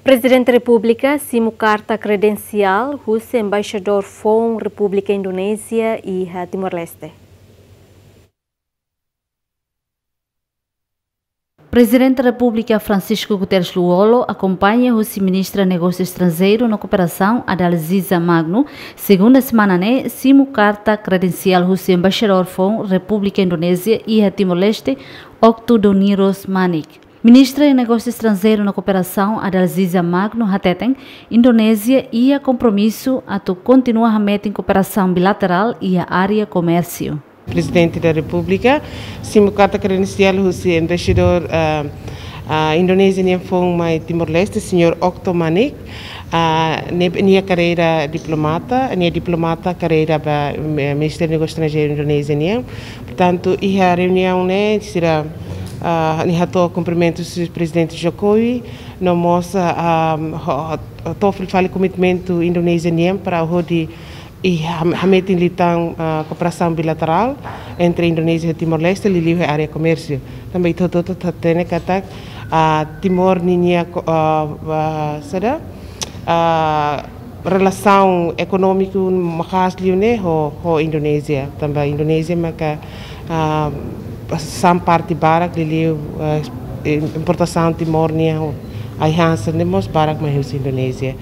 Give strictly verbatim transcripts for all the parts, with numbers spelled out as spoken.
Prezidente Repúblika simu karta kredensiál husi Embaixadór foun Repúblika Indonézia iha Timor-Leste. Prezidente Repúblika Francisco Guterres Lú-Olo akompaña husi Ministra Negósiu Estranjeiru no Kooperasaun Adalziza Magno, segunda semana ne'e, simu karta kredensiál husi Embaixadór foun Repúblika Indonézia iha Timor-Leste, Okto Doniros Manik. Ministra Negósiu Estranjeiru no Kooperasaun Adalziza Magno hateten, Indonézia iha kompromisu atu kontinua hametin kooperasaun bilaterál iha área komérsiu. Prezidente da Repúblika simu karta kredensiál husi Embaixadór, ah, ah, Indonézia nian foun mai Timor-Leste, señór Okto Manik, ah, ne'e, nia karreira diplomata, nia diplomata karreira ba, eh, Ministériu Negósiu Estranjeiru Indonézia nian. Portantu, iha reuniaun ne'e, sira, ah, nia hato'o kumprimentus Prezidente Jokowi, no mós, ah, ah, ho-, ho-, hato'o fila fali komitmentu Indonézia nian para hodi, i ham-, hametin liután, ah, kooperasaun bilaterál entre Indonézia ho Timor-Leste, liuliu iha área komérsiu. Tanba ita hotu-hotu hatene katak, ah, Timor ninia ko-, ah, ah, saida, ah, relasaun ekonómiku maka'as liu ne'e ho, ho Indonézia. Tanba Indonézia maka, ah, sa'e parte barak liuliu, ah, importasaun Timor nian, ai-han sira ne'e mós barak mai husi Indonézia.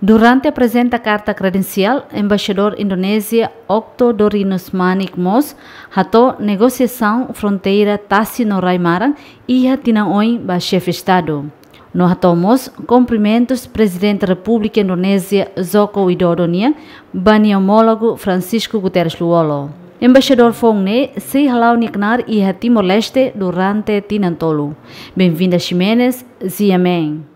Durante aprezenta karta kredensiál, Embaixadór Indonézia Okto Dorinos Manik mós hato'o negosiasaun fronteira tasi no rai-maran iha tinan oin ba Xefe Estadu. No hato'o mós kumprimentus Prezidente Repúblika Indonézia Joko Widodo nian ba nia omólogu Francisco Guterres Lú-Olo. Embaixadór foun ne'e sei hala'o nia knaar iha Timor-Leste durante tinan tolu. Benvinda Ximenes, Ziamen.